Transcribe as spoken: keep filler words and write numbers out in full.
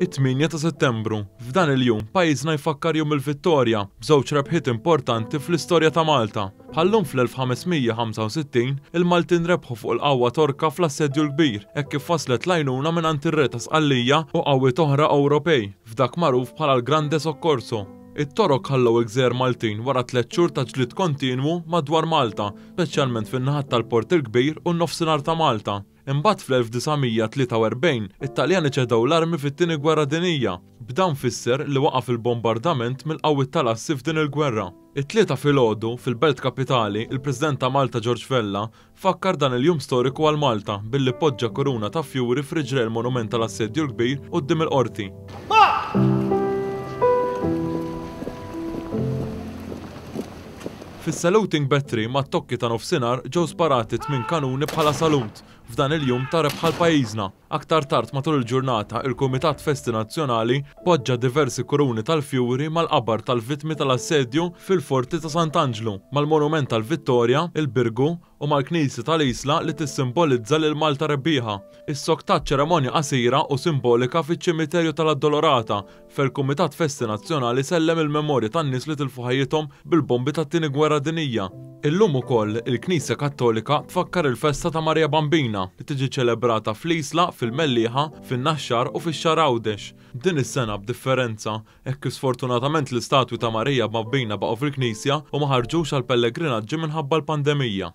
It-tmienja ta' Settembru, f'dan il-jum pajjiżna jfakkar Jum il-Vittorja b'żewġ rebħiet importanti fl-istorja ta' Malta. Bħal-lum fl-elf ħames mija ħamsa u sittin, il-Maltin rebħu fuq il-qawwa Torka fl-Assedju l-Kbir, hekk kif waslet l-għajnuna mingħand ir-Re ta' Sqallija u qawwiet oħra Ewropej, f'dak magħruf bħala l-Grande Soccorso. It-Torok ħallew il-gżejjer Maltin wara tliet xhur ta' ġlied kontinwu madwar Malta, speċjalment fin-naħat tal-Port il-Kbir u n-nofsinhar ta' Malta. Imbagħad fl-elf disa' mija tlieta u erbgħin, it-Taljani ċedew l-armi fit-Tieni Gwerra Dinjija, b'dan fisser li waqaf il-bombardament mill-qawwiet tal-assi f'din il-gwerra. It-Tlieta filgħodu, fil-Belt Kapitali, il-President ta' Malta George Vella fakkar dan il-jum storiku għal Malta billi poġġa kuruna ta' fjuri f'riġlejn il-Monument tal-Assedju l-Kbir quddiem il-Qorti. Fis-saluting battery mat-tokki ta' nofsinhar ġew sparati tmien kanuni bħala salut f'dan il-jum ta' rebħa għal pajjiżna. Aktar tard matul il-ġurnata, il-Kumitat Festi Nazzjonali poġġa diversi kuruni tal-fjuri mal-qabar tal-vittmi tal-assedju fil-Forti ta' Sant'Anġlu, mal-Monument tal-Vittorja, il-Birgu u mal-Knisja tal-Isla li tissimbolizza lil Malta rebbieħa. Is-soktat ċerimonja qasira u simbolika fiċ-ċimiterju tal-Addolorata fejn il-Kumitat Festi Nazzjonali sellem il-memorja tan-nies li tilfu ħajjithom bil-bombi tat-Tieni Gwerra Dinjija. Illum ukoll il-Knisja Kattolika tfakkar il-festa ta' Marija Bambina li tiġi ċelebrata fl-Isla, fil-Mellieħa, fin-Naxxar u fix-Xagħar Għawdex. Din is-sena b'differenza, hekk kif sfortunatament l-istatwi ta' Marija Bambina baqgħu fil-Knisja u ma ħarġux għal pellegrinaġġi minħabba l-pandemija.